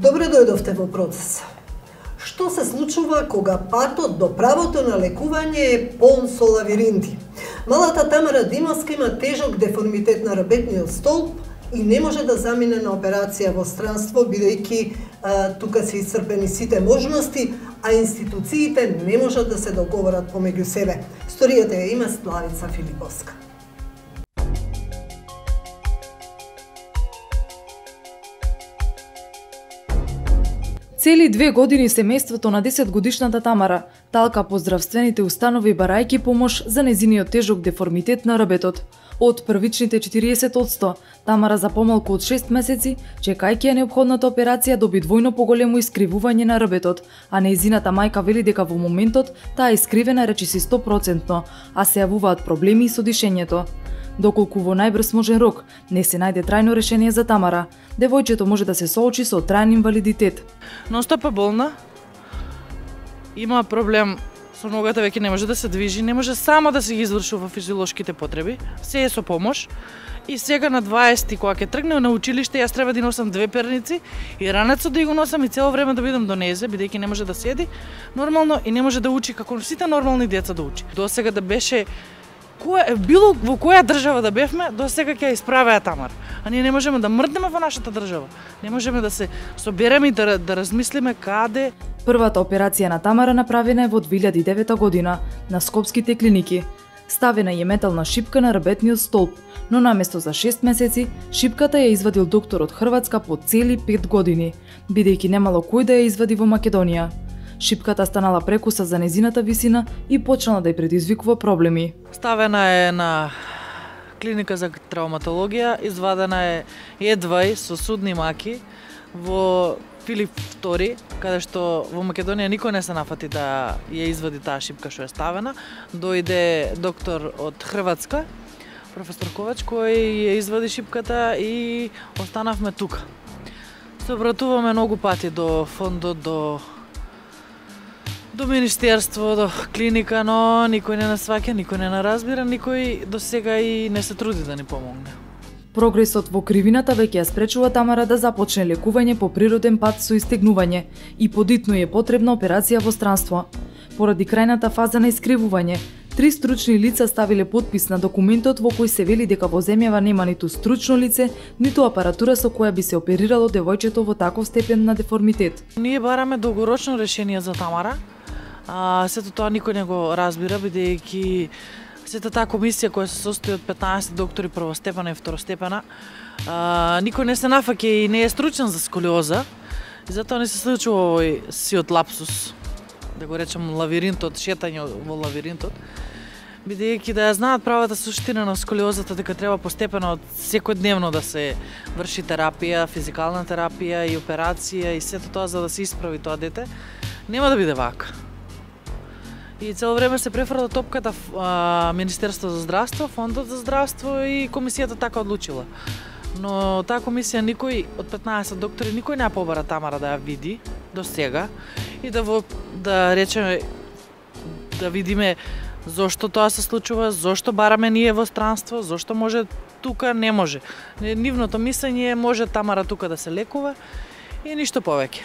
Добре дојдовте во процес. Што се случува кога патот до правото на лекување е полн со лавиринти? Малата Тамара Димовска има тежок деформитет на ребетниот столб и не може да замине на операција во странство, бидејќи тука се исцрпени сите можности, а институциите не можат да се договорат помеѓу себе. Сторијата ја има Славица Филиповска. Цели 2 години семејството на 10-годишната Тамара талка по здравствените установи барајќи помош за незиниот тежок деформитет на ребетот. Од првичните 40%, Тамара за помалку од 6 месеци, чекајќи ја неопходната операција, доби двојно поголемо искривување на ребетот, а нејзината мајка вели дека во моментот таа е искривена речиси 100%, а се јавуваат проблеми со дишењето. Доколку во најбрз можен рок не се најде трајно решение за Тамара, девојчето може да се соочи со трајен инвалидитет. Ностоп е болна, има проблем со ногата, веќе не може да се движи, не може само да се ги извршува физиолошките потреби, се е со помош. И сега на 20 кога ќе тргне на училиште, јас треба да носам 2 перници и ранецот да го носам и цело време да бидам до незе, бидејќи не може да седи нормално и не може да учи како сите нормални деца да учи. До сега да беше било во која држава да бевме, до сега ќе исправеа Тамара. А ние не можеме да мрднеме во нашата држава. Не можеме да се собереме и да размислиме каде. Првата операција на Тамара направена е во 2009 година на скопските клиники. Ставена е метална шипка на ребетниот столб, но наместо за 6 месеци, шипката ја извадил доктор од Хрватска по цели 5 години, бидејќи немало кој да ја извади во Македонија. Шипката станала прекуса за незината висина и почнала да ја предизвикува проблеми. Ставена е на клиника за травматологија, извадена е едва со судни маки во Филип II, каде што во Македонија никој не се нафати да ја извади таа шипка што е ставена. Дојде доктор од Хрватска, професор Ковач, кој ја извади шипката и останавме тука. Се обратуваме многу пати до фондот, до министерство, до клиника, но никој не насваќа, никој не наразбира, никој до сега и не се труди да ни помогне. Прогресот во кривината веќе ја спречува Тамара да започне лекување по природен пат со истегнување и подитно е потребна операција во странство. Поради крајната фаза на искривување, 3 стручни лица ставиле подпис на документот во кој се вели дека во земјава нема ниту стручно лице, ниту апаратура со која би се оперирало девојчето во таков степен на деформитет. Ние бараме долгорочно решение за Тамара. Сето тоа никој не го разбира, бидејќи сета таа комисија која се состои од 15 доктори првостепена и второстепена, никој не се нафаќа и не е стручен за сколиоза, и затоа не се случува овој сиот лапсус, да го речем лавиринтот, шетање во лавиринтот, бидејќи да ја знаат правата суштина на сколиозата, дека треба постепено секојдневно да се врши терапија, физикална терапија и операција и сето тоа за да се исправи тоа дете, нема да биде вака. И цело време се префрла топката Министерство за здравство, Фондот за здравство и комисијата така одлучила. Но таа комисија никој од 15 доктори никој не ја побара Тамара да ја види до сега и да речеме да видиме зошто тоа се случува, зошто бараме ние во странство, зошто може тука не може. Нивното мислење е може Тамара тука да се лекува и ништо повеќе.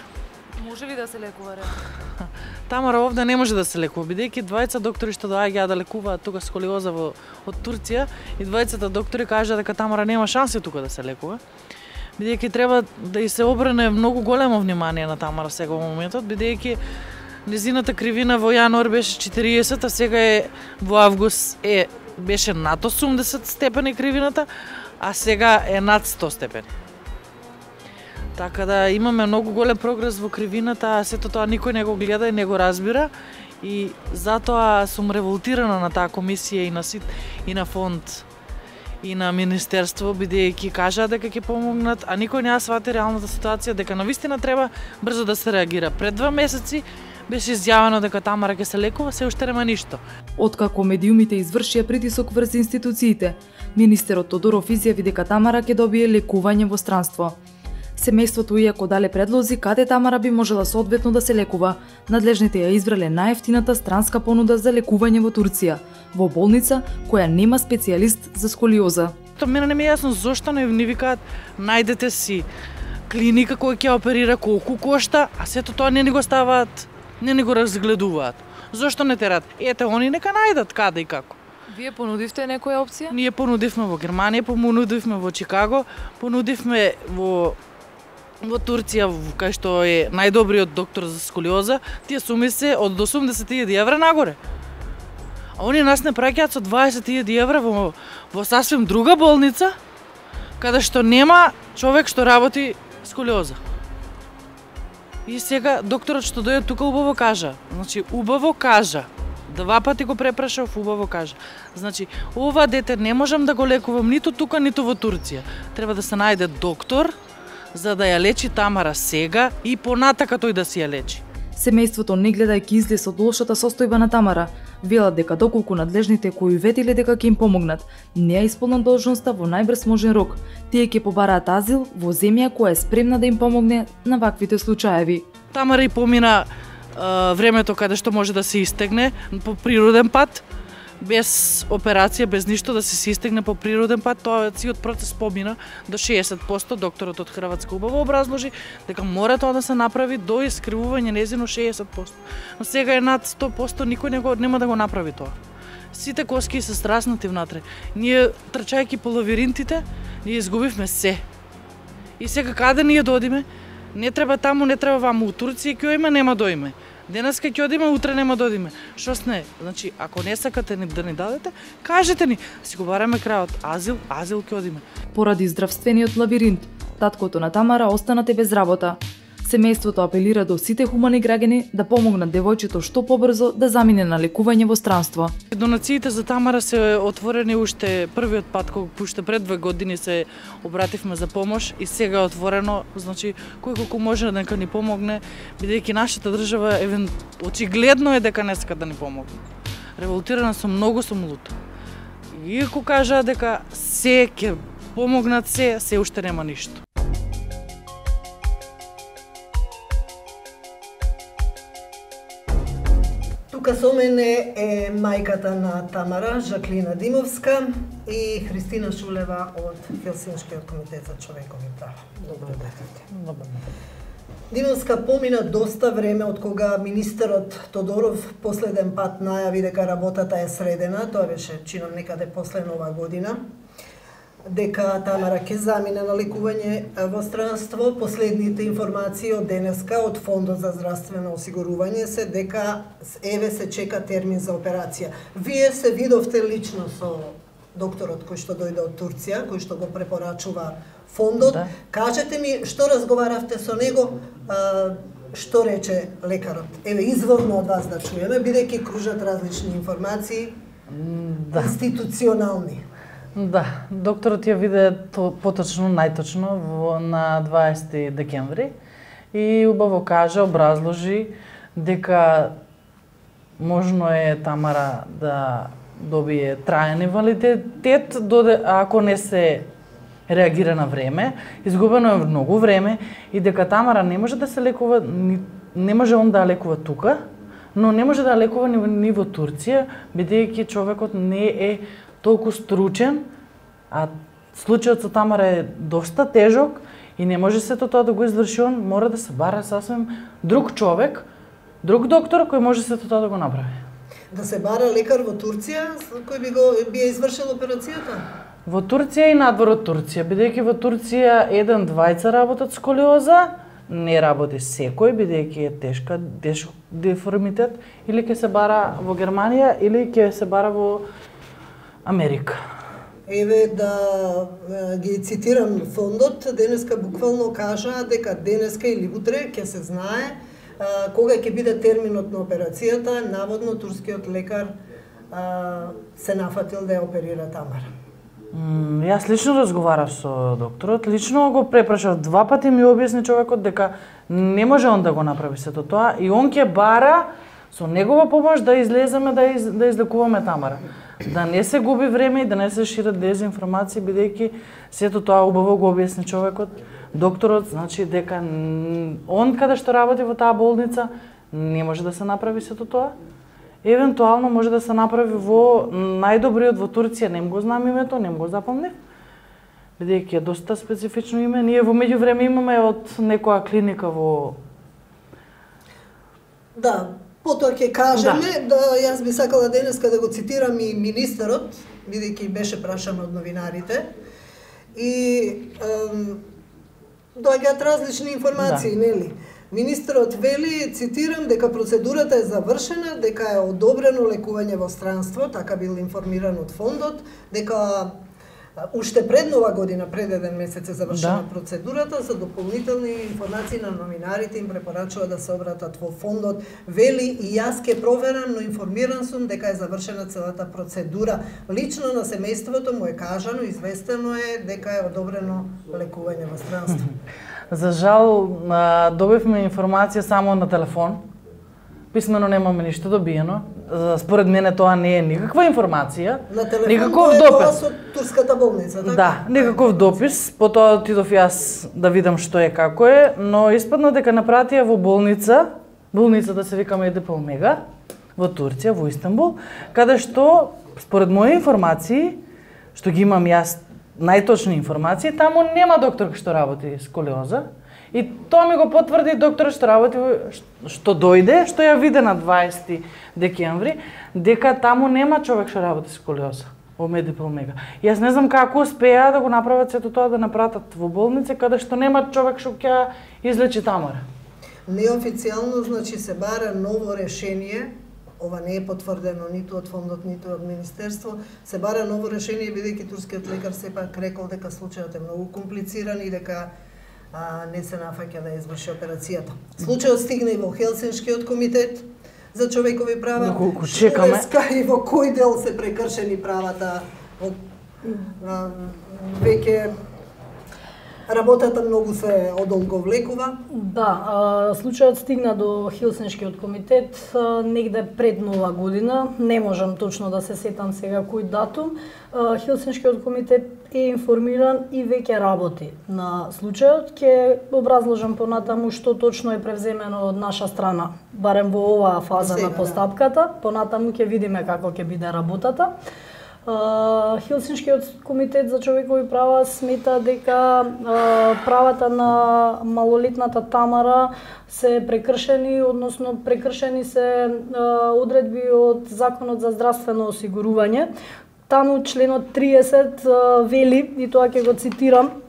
Може ли да се лекува реално? Тамара овде не може да се лекува, бидејќи двајца доктори што доаѓаат да лекуваат тука сколиоза од Турција и двајцата доктори кажаа дека Тамара нема шанси тука да се лекува. Бидејќи треба да и се обрне многу големо внимание на Тамара сега во моментот, бидејќи незината кривина во јануар беше 40, а сега во август беше над 80 степени кривината, а сега е над 100 степени. Така да имаме многу голем прогрес во кривината, а сето тоа никој не го гледа и не го разбира и затоа сум револтирана на таа комисија и на СИТ и на фонд и на министерство, бидејќи кажаа дека ќе помогнат, а никој не ја свати реалната ситуација, дека навистина треба брзо да се реагира. Пред 2 месеци беше изјавено дека Тамара ќе се лекува, се уште нема ништо. Откако медиумите извршија притисок врз институциите, министерот Тодоров изјави дека Тамара ќе добие лекување во странство. Семејството иако дале предлози каде Тамара би можела соодветно да се лекува, надлежните ја избрале најевтината странска понуда за лекување во Турција, во болница која нема специјалист за сколиоза. Мене не ми е јасно зошто не викаат најдете си клиника која ќе оперира, колку кошта, а сето тоа не ни го ставаат, не ни го разгледуваат. Зошто не терат? Ете, они нека најдат каде и како. Вие понудивте некоја опција? Ние понудивме во Германија, понудивме во Чикаго, понудивме во Турција, кај што е најдобриот доктор за сколиоза, тие суми се од 80.000 евра нагоре. А они нас не праќаат со 20.000 евра во сасвим друга болница, каде што нема човек што работи сколиоза. И сега докторот што дојде тука убаво кажа, значи убаво кажа, 2 пати го препрашав, убаво кажа. Значи, ова дете не можам да го лекувам ниту тука, ниту во Турција. Треба да се најде доктор за да ја лечи Тамара сега и понатака тој да си ја лечи. Семејството, не гледајќи излез од лошата состојба на Тамара, велат дека доколку надлежните кои ветиле дека ќе им помогнат, не ја исполнат должноста во најбрз можен рок, тие ќе побараат азил во земја која е спремна да им помогне на ваквите случаеви. Тамара и помина времето каде што може да се истегне по природен пат, без операција, без ништо, да се истегне по природен пат. Тоа циот процес помина до 60%. Докторот од Хрватска убаво образложи дека мора тоа да се направи до искривување незино 60%. Но сега е над 100%, никој нема да го направи тоа. Сите коски се страснати внатре. Ние, трчајќи по лавиринтите, ние изгубивме се. И сега каде ние додиме? Не треба таму, не треба ваму. У Турција ќе оиме, нема доиме. Денеска ќе одиме, утре нема да одиме. Што сне? Значи, ако не сакате да ни дадете, кажете ни. Си го бараме крајот. Азил ќе одиме. Поради здравствениот лавиринт, таткото на Тамара останате без работа. Семејството апелира до сите хумани граѓани да помогнат девојчето што побрзо да замине на лекување во странство. Донациите за Тамара се отворени уште првиот пат, кога уште пред 2 години се обративме за помош и сега е отворено, значи кој колку може дека ни помогне, бидејќи нашата држава очигледно е дека не сака да ни помогне. Револтирана сум, многу сум лута. И ако кажа дека се ќе помогнат, се уште нема ништо. Тука со мене е мајката на Тамара, Жаклина Димовска, и Христина Шулева од Хелсиншкиот комитет за човекови права. Добро дојдовте. Димовска, помина доста време од кога министерот Тодоров последен пат најави дека работата е средена, тоа беше чинам некаде после Нова година, дека Тамара ќе замине на лекување во странство. Последните информации од денеска од Фондот за здравствено осигурување се дека еве се чека термин за операција. Вие се видовте лично со докторот кој што дојде од Турција, кој што го препорачува фондот. Да. Кажете ми што разговаравте со него, што рече лекарот. Еве изворно од вас да чуеме, бидејќи кружат различни информации, институционални. Да, докторот ја виде поточно, најточно на 20 декември и убаво кажа, образложи дека можно е Тамара да добие траен инвалидитет ако не се реагира на време, изгубено е многу време и дека Тамара не може да се лекува, не може он да лекува тука, но не може да лекува ни во Турција, бидејќи човекот не е толку стручен, а случајот со Тамара е доста тежок и не може сето тоа да го изврши он, мора да се бара сасвим друг човек, друг доктор кој може сето тоа да го направи. Да се бара лекар во Турција кој би ја извршил операцијата? Во Турција и надвор од Турција, бидејќи во Турција 1-2 работат сколиоза, не работи секој, бидејќи е тешок деформитет, или ќе се бара во Германија, или ќе се бара во Америка. Еве да ги цитирам фондот, денеска буквално кажа дека денеска или утре ќе се знае кога ќе биде терминот на операцијата. Наводно турскиот лекар се нафатил да ја оперира Тамара. Јас лично разговарав со докторот, лично го препрашав 2 пати, ми објасни човекот дека не може он да го направи сето тоа и он ќе бара со негова помош да излеземе да излекуваме Тамара. Да не се губи време и да не се шират дезинформации, бидејќи сето тоа убаво го објасни човекот, докторот, значи дека он каде што работи во таа болница не може да се направи сето тоа. Евентуално може да се направи во најдобриот во Турција, не го знам името, не го запомнив. бидејќи е доста специфично име. Ние во меѓувреме имаме од некоја клиника во... Да, потоа ќе кажеме, да јас би сакала денеска да го цитирам и министерот, бидејќи беше прашан од новинарите, и доаѓаат различни информации, нели? Министерот вели, цитирам, дека процедурата е завршена, дека е одобрено лекување во странство, така бил информиран од фондот, дека уште пред нова година, пред еден месец е завршена процедурата. За дополнителни информации на новинарите им препорачува да се обратат во фондот. Вели, и јас ке проверам, но информиран сум дека е завршена целата процедура. Лично на семејството му е кажано, известено е дека е одобрено лекување во странство. За жал, добивме информација само на телефон. Писмено немаме ништо добиено. Според мене тоа не е никаква информација. На телефон никаков тоа е допис. тоа со турската болница, така? Да, никаков допис. Потоа отидов јас да видам што е, како е, но испадна дека напратија во болницата се вика Медипол Мега, во Турција, во Истанбул, каде што, според мои информации, што ги имам јас, најточни информации, таму нема доктор што работи сколиоза. И тоа ми го потврди доктор што работи, што дојде, што ја виде на 20 декември, дека таму нема човек што работи сколиоза во Медипол Мега. Јас не знам како успеа да го направат сето тоа да напратат во болница, каде што нема човек што ќе излечи Тамара. Неофицијално, значи, се бара ново решение. Ова не е потврдено ниту од фондот, ниту од министерство. Се бара ново решение, бидејќи турскиот лекар сепак рекол дека случајот е многу комплициран и дека не се нафаќа да изврши операцијата. Случајот стигна и во Хелсиншкиот комитет за човекови права. Доколку чекаме. И во кој дел се прекршени правата, веќе работата многу се одолговлекува. Да, случајот стигна до Хелсиншкиот комитет негде пред нова година. Не можам точно да се сетам сега кој датум. Хелсиншкиот комитет е информиран и веќе работи на случајот. Ќе образложам понатаму што точно е превземено од наша страна, барем во оваа фаза на постапката. Понатаму ќе видиме како ќе биде работата. Хелсиншкиот комитет за човекови права смета дека правата на малолетната Тамара се прекршени, односно прекршени се одредби од Законот за здравствено осигурување. Таму членот 30 вели, и тоа ќе го цитирам,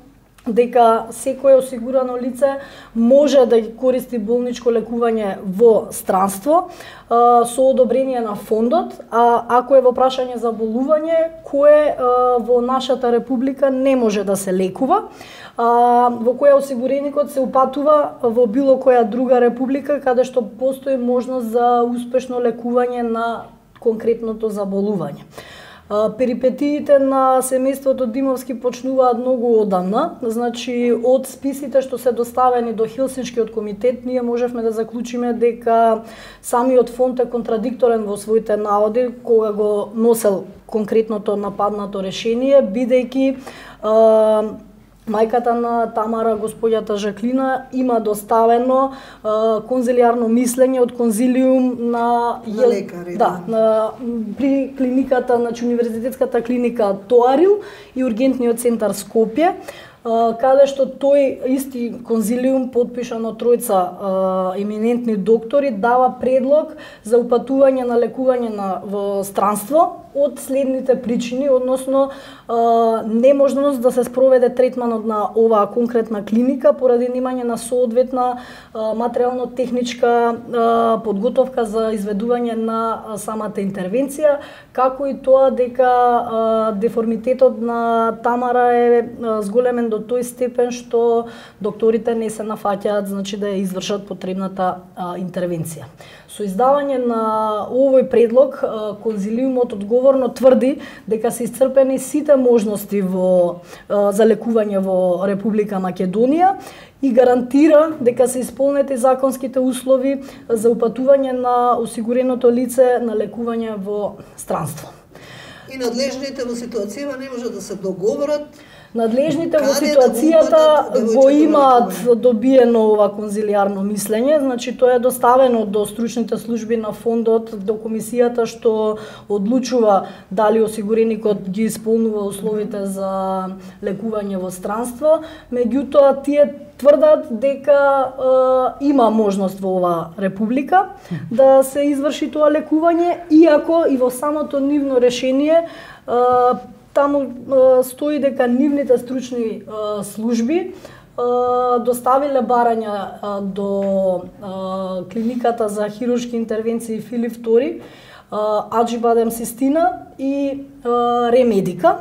дека секое осигурано лице може да користи болничко лекување во странство со одобрение на фондот, а ако е во прашање за болување кое во нашата република не може да се лекува, во која осигуреникот се упатува во било која друга република каде што постои можност за успешно лекување на конкретното заболување. Перипетиите на семејството Димовски почнуваат многу одамна, значи од списите што се доставени до Хелсиншкиот комитет, ние можевме да заклучиме дека самиот фонд е контрадикторен во своите наводи кога го носел конкретното нападнато решение, бидејќи мајката на Тамара, господјата Жаклина, има доставено конзилиарно мислење од конзилиум на лекари. Да, при клиниката, значи универзитетската клиника Тоарил и ургентниот центар Скопје, каде што тој исти конзилиум, подпишан од тројца еминентни доктори, дава предлог за упатување на лекување во странство од следните причини, односно неможност да се спроведе третманот на оваа конкретна клиника поради немање на соодветна материјално-техничка подготовка за изведување на самата интервенција, како и тоа дека деформитетот на Тамара е зголемен до тој степен што докторите не се нафаќаат, значи да ја извршат потребната интервенција. Со издавање на овој предлог, конзилиумот одговорно тврди дека се исцрпени сите можности за лекување во Република Македонија и гарантира дека се исполнети законските услови за упатување на осигуреното лице на лекување во странство. И надлежните во ситуацијава не може да се договорат. Надлежните во ситуацијата го имаат добиено ова конзилијарно мислење, значи тоа е доставено до стручните служби на фондот, до комисијата што одлучува дали осигуреникот ги исполнува условите за лекување во странство, меѓутоа тие тврдат дека има можност во оваа република да се изврши тоа лекување, иако и во самото нивно решение таму стои дека нивните стручни служби доставиле барања до клиниката за хируршки интервенции Филип II, Аџибадем Систина и Ремедика.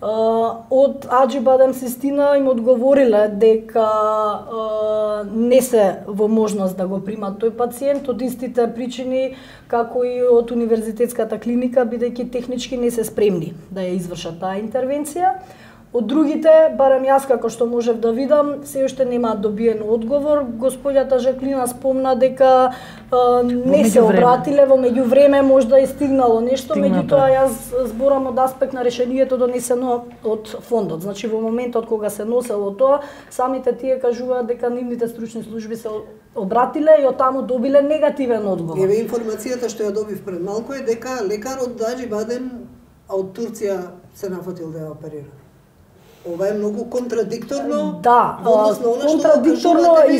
Од Аџибадем Систина им одговориле дека не се во можност да го примат тој пациент од истите причини како и од универзитетската клиника, бидејќи технички не се спремни да ја извршат таа интервенција. Од другите, барем јас како што можев да видам, се уште нема добиен одговор. Господјата Жаклина спомна дека не се обратиле, во меѓувреме можда е стигнало нешто, меѓутоа јас зборам од аспект на решението донесено од фондот. Значи во моментот кога се носело тоа, самите тие кажуваат дека нивните стручни служби се обратиле и од таму добиле негативен одговор. Еве информацијата што ја добив пред малку е дека лекарот Аџибадем од Турција се нафатил да ја оперира. Ова е многу контрадикторно. Да, контрадикторно и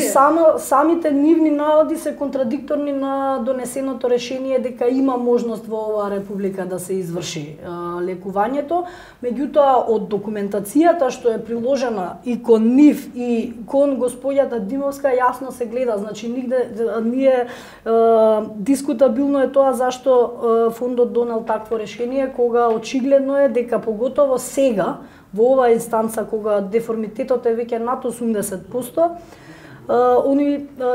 самите нивни наводи се контрадикторни на донесеното решение дека има можност во оваа република да се изврши лекувањето, меѓутоа од документацијата што е приложена и кон нив и кон господјата Димовска јасно се гледа, значи нигде ние дискутабилно е тоа зашто фондот донел такво решение кога очигледно е дека поготово сега во оваа инстанца кога деформитетот е веќе над 80%,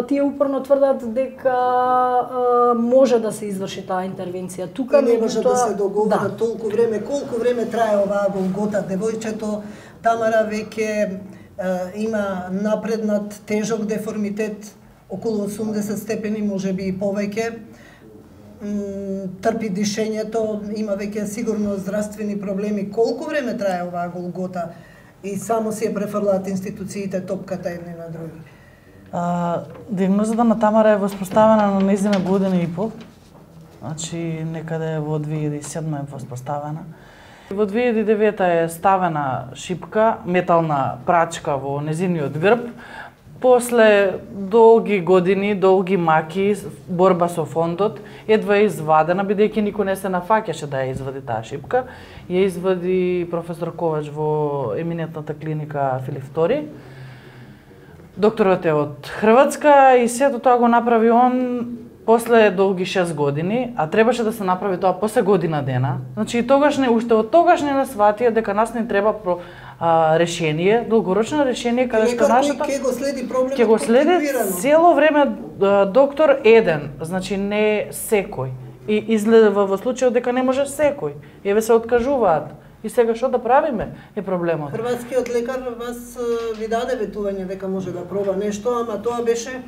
тие упорно тврдат дека може да се изврши таа интервенција. Тука не може да се договорат толку време. Колку време трае оваа голгота? Девојчето Тамара веќе има напреднат тежок деформитет, околу 80 степени, можеби и повеќе. Трпи дишењето, има веќе сигурно здравствени проблеми. Колку време трае оваа голгота и само си ја префрлаат институциите топката едни на други? Диагнозата на Тамара е воспоставена на нејзина година и пол. Значи некаде во 2007 е воспоставена. Во 2009 е ставена шипка, метална прачка во нејзиниот грб. После долги години, долги маки, борба со фондот, едва е извадена, бидејќи никој не се нафаќаше да ја извади таа шипка. Ја извади професор Ковач во еминентната клиника Филип II. Докторот е од Хрватска и сето тоа го направи он после долги 6 години, а требаше да се направи тоа после година дена. Значи и тогаш уште од тогаш не сватија дека нас не треба решение, долгорочно решение каде што нашата ќе го следи проблемот, ќе го следи цело време доктор еден, значи не секој. И изгледа во случајот дека не може секој. Еве се откажуваат. И сега што да правиме е проблемот. Хрватскиот лекар вас ви даде ветување дека може да проба нешто, ама тоа беше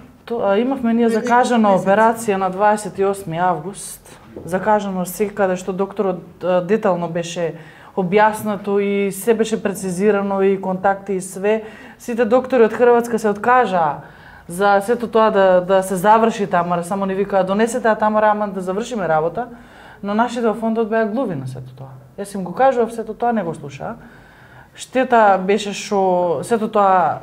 имавме ние закажана операција на 28 август. Закажано секаде што докторот детално беше објаснато и се беше прецизирано и контакти и све. Сите доктори од Хрватска се откажаа за сето тоа да се заврши Тамара, само ни викаа донесете Тамара, ама да завршиме работа. Но нашите во фондот беа глуви на сето тоа. Јас им го кажував, сето тоа не го слушаа. Штета беше што сето тоа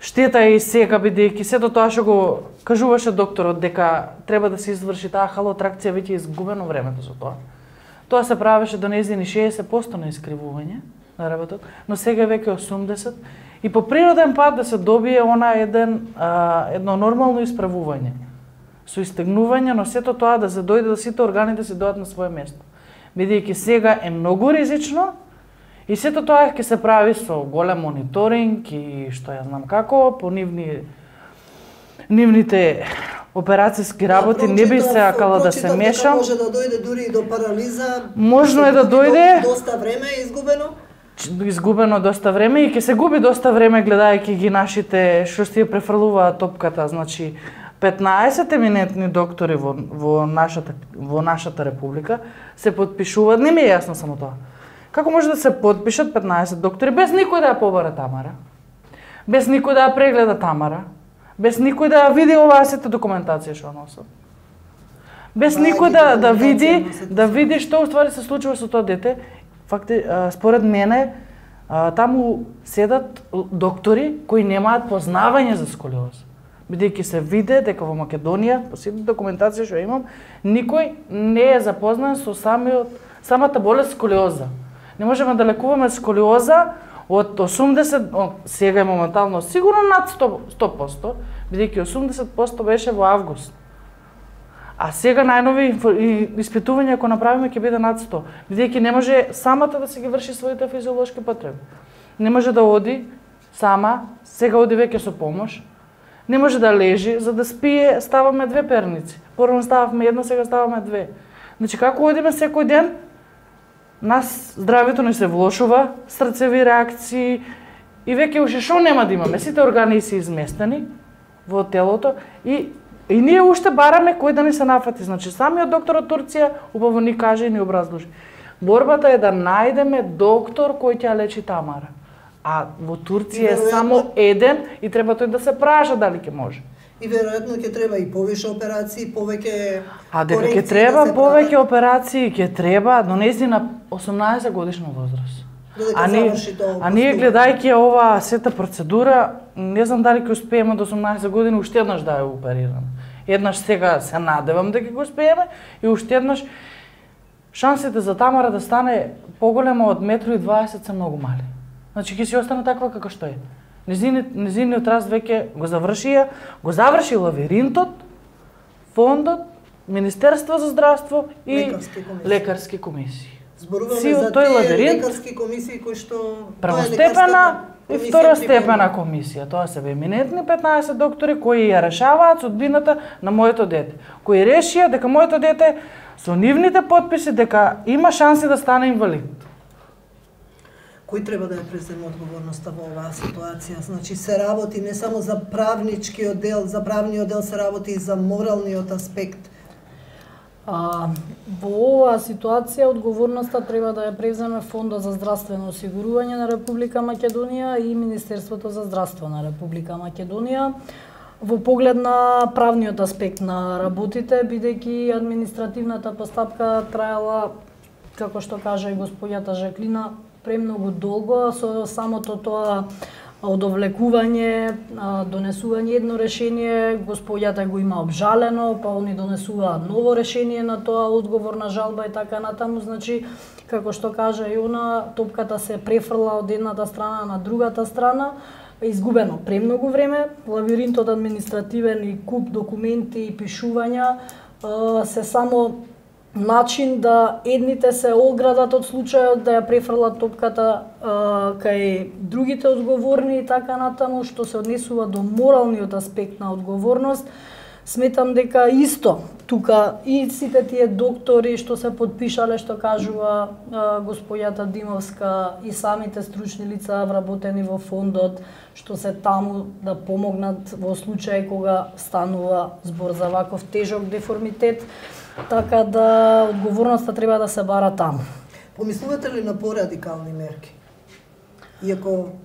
штета е и сега, бидејќи сето тоа што го кажуваше докторот дека треба да се изврши таа халотракција, веќе изгубено времето со тоа. Тоа се правеше до нејзини 60% на искривување на работот, но сега веќе 80% и по природен пат да се добие едно нормално исправување со истегнување, но сето тоа да се дојде да сите органи да се дојдат на свое место. Бидејќи сега е многу ризично и сето тоа ќе се прави со голем мониторинг и што ја знам како, по нивните операцијски работи не би се акала да се мешам. Може да дојде дури и до парализа. Можно е да дојде. Доста време е изгубено. Изгубено доста време и ќе се губи доста време гледајќи ги нашите што си ја префрлуваат топката, значи 15 еминентни доктори во нашата република се потпишуваат, не ми е јасно само тоа. Како може да се потпишат 15 доктори без никој да ја побара Тамара? Без никој да ја прегледа Тамара? Без никој да ја види оваа сета документација што носат? Без никој да види што уствари се случува со тоа дете? Факти, според мене, таму седат доктори кои немаат познавање за сколиоза. Бидејќи се виде дека во Македонија, по сите документација што имам, никој не е запознан со самата болест сколиоза. Не можеме да лекуваме сколиоза од 80, сега е моментално сигурно над 100%, бидејќи 80% беше во август. А сега најнови испитувања ако направиме ќе биде над 100, бидејќи не може самата да се ги врши своите физиолошки потреби. Не може да оди сама, сега оди веќе со помош. Не може да лежи, за да спие ставаме 2 перници. Порано стававме една, сега ставаме 2. Значи како одиме секој ден, нас здравјето ни се влошува, срцеви реакции и веќе уште шо нема да имаме. Сите органи се изместени во телото и ние уште бараме кој да ни се нафати. Значи самиот доктор од Турција убаво ни каже и ни образложи. Борбата е да најдеме доктор кој ќе лечи Тамара. А во Турција е само еден и треба тој да се праша дали ќе може. И веројатно ќе треба и повеќе операции, повеќе дека ќе треба повеќе операции, ќе треба до нејзина 18 годишна возраст. А ние гледајќи ова сета процедура, не знам дали ќе успееме до 18 години уште еднаш да ја оперираме. Еднаш сега се надевам дека ќе го успееме и уште еднаш шансите за Тамара да стане поголема од 1,20 м се многу мали. Значи ќе си остане таква како што е. Незиниот раст веќе го заврши лавиринтот, фондот, Министерство за здравство и лекарски комисии. Зборуваме за тие лекарски комисии кои што првостепена и второстепена комисија. Тоа се еминентни 15 доктори кои ја решаваат судбината на моето дете. Кои решија дека моето дете со нивните потписи дека има шанси да стане инвалид. Кој треба да ја преземе одговорноста во оваа ситуација? Значи се работи не само за правничкиот дел, за правниот дел се работи и за моралниот аспект. Во оваа ситуација одговорноста треба да ја преземе Фондот за здравствено осигурување на Република Македонија и Министерството за здравство на Република Македонија во поглед на правниот аспект на работите, бидејќи административната постапка траела, како што кажа и господјата Жаклина, премногу долго, со самото тоа одовлекување, донесување едно решение, господјата го има обжалено, па они донесуваат ново решение на тоа, одговор на жалба и така натаму, значи, како што кажа и она, топката се префрла од едната страна на другата страна, изгубено премногу време, лавиринтот административен и куп документи и пишувања се само начин да едните се оградат од случајот, да ја префрлат топката кај другите одговорни и така натаму, што се однесува до моралниот аспект на одговорност. Сметам дека исто тука и сите тие доктори што се потпишале, што кажува господјата Димовска, и самите стручни лица вработени во фондот, што се таму да помогнат во случај кога станува збор за ваков тежок деформитет, така да одговорноста треба да се бара таму. Помислувате ли на порадикални мерки? Иако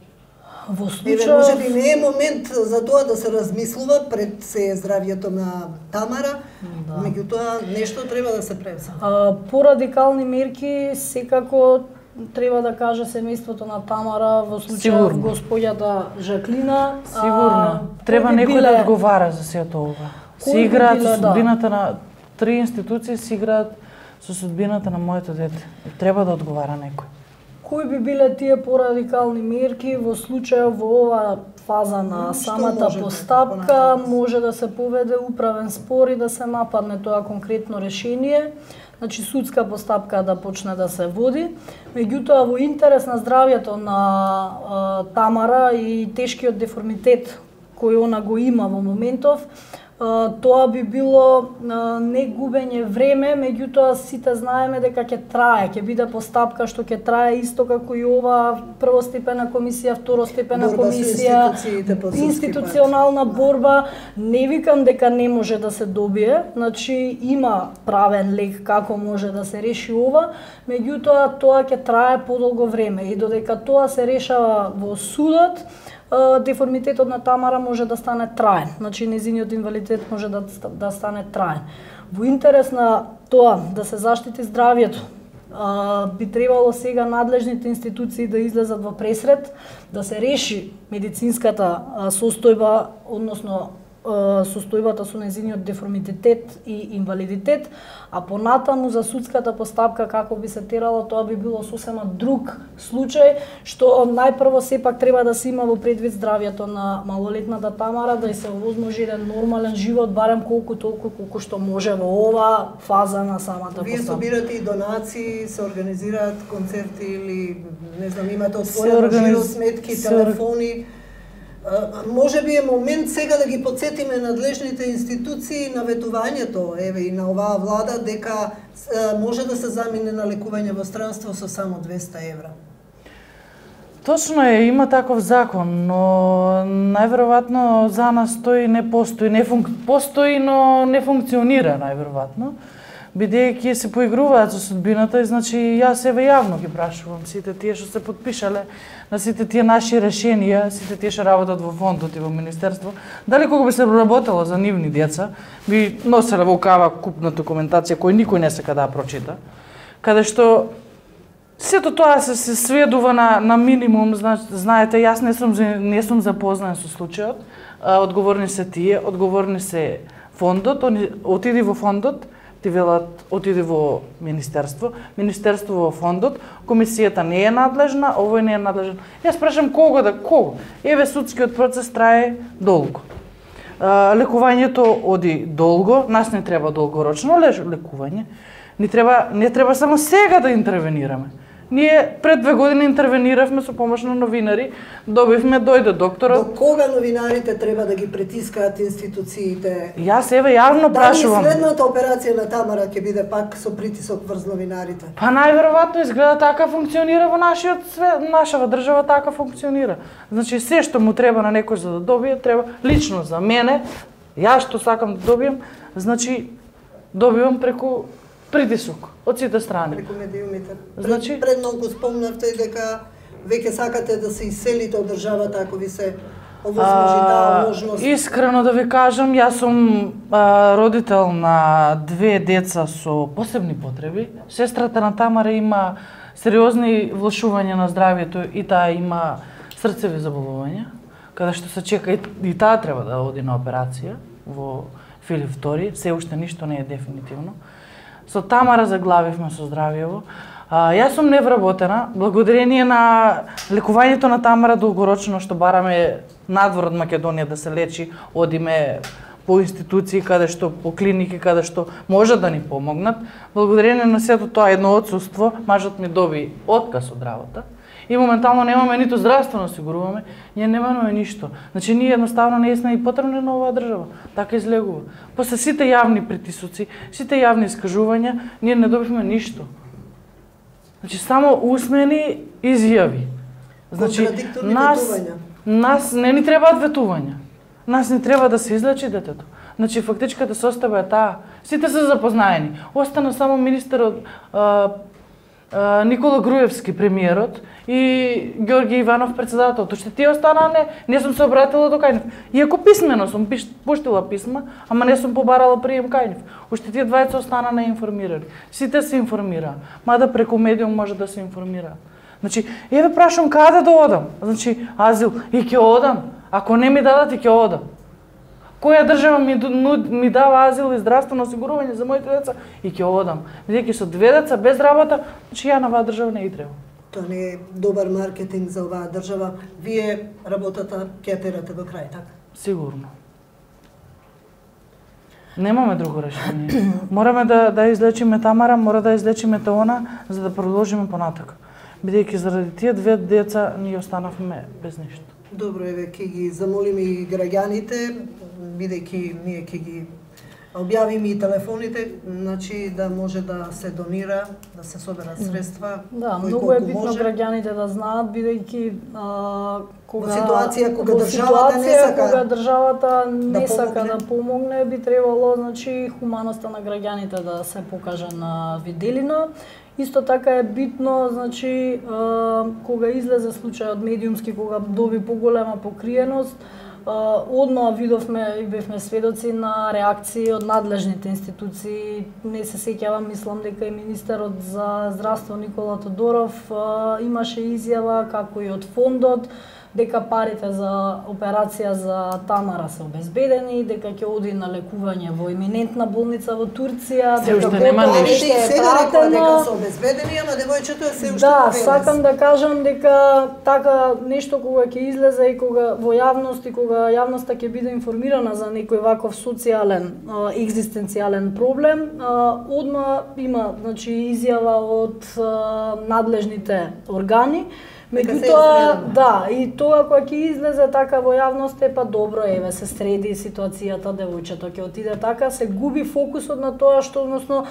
во случај може би не е момент за тоа да се размислува пред се здравјето на Тамара, меѓутоа нешто треба да се превземе. Порадикални мерки секако треба да каже семејството на Тамара, во случај господјата Жаклина. Сигурно. Треба некој да одговара за сето ова. Се играат со судбината на 3 институции, се играат со судбината на моето дете. Треба да одговара некој. Кои би биле тие порадикални мерки во случај во оваа фаза на самата постапка? Може да се поведе управен спор и да се нападне тоа конкретно решение. Значи судска постапка да почне да се води. Меѓутоа во интерес на здравјето на Тамара и тешкиот деформитет кој она го има во моментов, тоа би било не губење време, меѓутоа сите знаеме дека ќе трае, ќе биде постапка што ќе трае исто како и ова првостепена комисија, второстепена комисија, институционална борба. Не викам дека не може да се добие, значи има правен лек како може да се реши ова, меѓутоа тоа ќе трае подолго време и додека тоа се решава во судот, деформитетот на Тамара може да стане траен, значи незиниот инвалидитет може да стане траен. Во интерес на тоа да се заштити здравјето, би требало сега надлежните институции да излезат во пресред, да се реши медицинската состојба, односно состојбата со незиниот деформитет и инвалидитет, а понатаму за судската постапка како би се терало, тоа би било сосема друг случај, што најпрво сепак треба да се има во предвид здравјето на малолетната Тамара, да се овозможи еден нормален живот, барем колку што може во ова фаза на самата постапка. Вие собирате и донации, се организираат концерти или не знам, имате отворено жиро сметки, телефони. Може би е момент сега да ги подсетиме надлежните институции на ветувањето, еве и на оваа влада, дека може да се замине на лекување во странство со само 200 евра. Точно е, има таков закон, но најверојатно за нас тој не постои, постои, но не функционира најверојатно. Бидејќи се поигруваат со судбината, и значи јас еве јавно ги прашувам сите тие што се подпишале на сите тие наши решенија, сите тие што работат во фондот и во министерство, дали кога би се работело за нивни деца, би носеле во кава купна документација кој никој не сака да ја прочита, каде што сето тоа се сведува на минимум. Знаете, јас не сум запознаен со случајот, одговорни се тие, одговорни се фондот, отиди во фондот, ти велат отиди во министерство, министерство во фондот, комисијата не е надлежна, овој не е надлежен. Јас прашам кого? Еве судскиот процес трае долго. Лекувањето оди долго, нас не треба долгорочно лекување. Не треба само сега да интервенираме. Ние пред 2 години интервениравме со помош на новинари, дојде докторот. До кога новинарите треба да ги притискаат институциите? Јас еве јавно прашувам. Дали следната операција на Тамара ќе биде пак со притисок врз новинарите? Па најверојатно изгледа така функционира во нашиот свет, нашава држава така функционира. Значи се што му треба на некој за да добие, треба лично за мене, јас што сакам да добием, значи добивам преку притисок од сите страни. Преку медиумите. Значи пред многу спомнавте дека веќе сакате да се иселите од државата ако ви се овозможи таа можност. Искрено да ви кажам, јас сум родител на 2 деца со посебни потреби. Сестрата на Тамара има сериозни влошувања на здравјето и таа има срцеви заболувања, каде што се чека и таа треба да оди на операција во Филип II, се уште ништо не е дефинитивно. Со Тамара заглавивме со здравјево. Јас сум невработена, благодарение на лекувањето на Тамара долгорочно што бараме надвор од Македонија да се лечи, одиме по институции по клиники каде што може да ни помогнат. Благодарение на сето тоа едно отсуство, мажот ми доби отказ од работа. И моментално немаме ниту здравствено осигуруваме, ние немаме ништо. Значи ние едноставно не сме и потребни на оваа држава. Така излегува. После сите јавни притисоци, сите јавни искажувања, ние не добивме ништо. Значи само усмени изјави. Значи нас не ни требаат ветувања. Нас не треба да се излечи детето. Значи фактичката состојба е таа. Сите се запознаени. Остана само министерот Никола Груевски, премиерот, и Ѓорѓе Иванов, председателот. Уште тие останаа не сум се обратила до кај нив. Иако писмено сум пуштила писма, ама не сум побарала прием кај нив. Уште тие двајца останаа неинформирани. Сите се информираа, мада преку медиум може да се информираат. Значи, еве прашам каде да одам? Значи, азил, и ќе одам. Ако не ми дадат, и ќе одам. Која држава ми дава азил и здравствено осигурување за моите деца, и ќе одам. Бидејќи со 2 деца без работа, значи ја на оваа држава не и треба. Тоа не е добар маркетинг за оваа држава. Вие работата ќе терате до крај, така? Сигурно. Немаме друго решение. Мораме да излечиме Тамара, мора да излечиме Теона, за да продолжиме понатака. Бидејќи заради тие 2 деца ние останавме без ништо. Добро, еве ќе ги замолиме и граѓаните, бидејќи ние ќе ги објавиме и телефоните, значи да може да се донира, да се соберат средства. Да, многу е битно граѓаните да знаат, бидејќи во ситуација кога државата не сака, кога државата не сака да помогне, би требало, значи, хуманоста на граѓаните да се покаже на виделина. Исто така е битно, значи, кога излезе случајот медиумски, кога доби поголема покриеност, одма видовме и бевме сведоци на реакции од надлежните институции. Не се сеќавам, мислам дека и министерот за здравство Никола Тодоров имаше изјава, како и од фондот, дека парите за операција за Тамара се обезбедени, дека ќе оди на лекување во еминентна болница во Турција, дека парите се пратено, дека се обезбедени, ама девојчето е се уште да, сакам да кажам дека така нешто кога ќе излезе и кога во јавност и кога јавноста ќе биде информирана за некој ваков социјален, екзистенцијален проблем, одма има, значи, изјава од надлежните органи. Меѓутоа, да, и тоа кога ќе излезе така во јавност, па добро, еве се среди ситуацијата, девојчето ќе отиде така, се губи фокусот на тоа што, односно,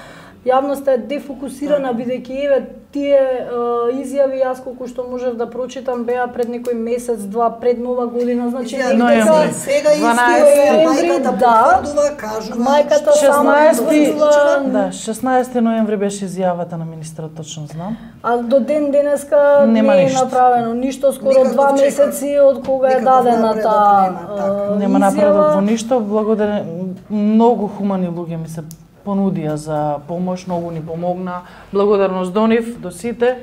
јавноста е дефокусирана, бидејќи еве тие изјави, јас колку што можев да прочитам, беа пред некој месец, два пред Нова година, значи ноември. Сега мајката потврдува, кажува, мајката 16 ноември беше изјавата на министерот, точно знам. А до ден денеска не е направено ништо, скоро 2 месеци од кога е дадена таа нема напредок во ништо. Благодарен, многу хумани луѓе ми се понудија за помош, многу ни помогна. Благодарност до нив, до сите.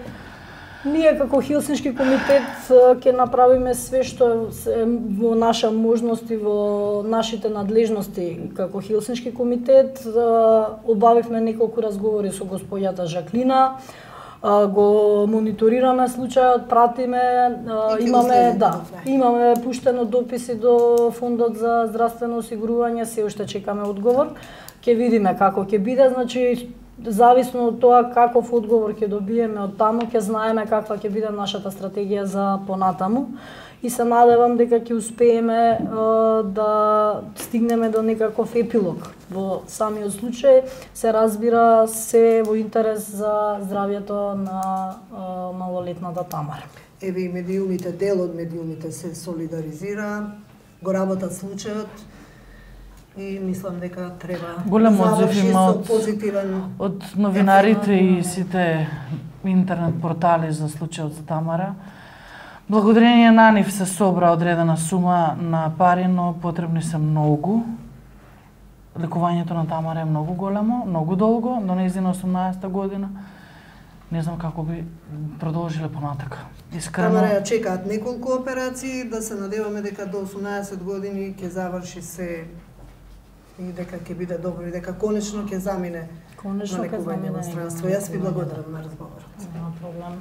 Ние како Хелсиншки комитет ќе направиме све што е во наша можност и во нашите надлежности како Хелсиншки комитет. Обавивме неколку разговори со госпоѓата Жаклина, го мониторираме случајот, пратиме, имаме пуштено дописи до Фондот за здравствено осигурување, се уште чекаме одговор. Ќе видиме како ќе биде, значи зависно од тоа каков одговор ќе добиеме од таму, ќе знаеме каква ќе биде нашата стратегија за понатаму и се надевам дека ќе успееме да стигнеме до некаков епилог. Во самиот случај се разбира се во интерес за здравјето на малолетната Тамара. Еве и медиумите, дел од медиумите се солидаризира, го работат случајот и мислам дека треба голем одзив има позитивен од новинарите и сите интернет портали за случајот за Тамара. Благодарение на нив се собра одредена сума на пари, но потребни се многу. Лекувањето на Тамара е многу големо, многу долго, до нејзина 18-та година. Не знам како би продолжиле понатака. Искрено. Тамара ја чекаат неколку операции, да се надеваме дека до 18 години ќе заврши се и дека ќе биде добро и дека конечно ќе замине на лекување во странство. Јас ви благодарам на разговорот. Нема проблем.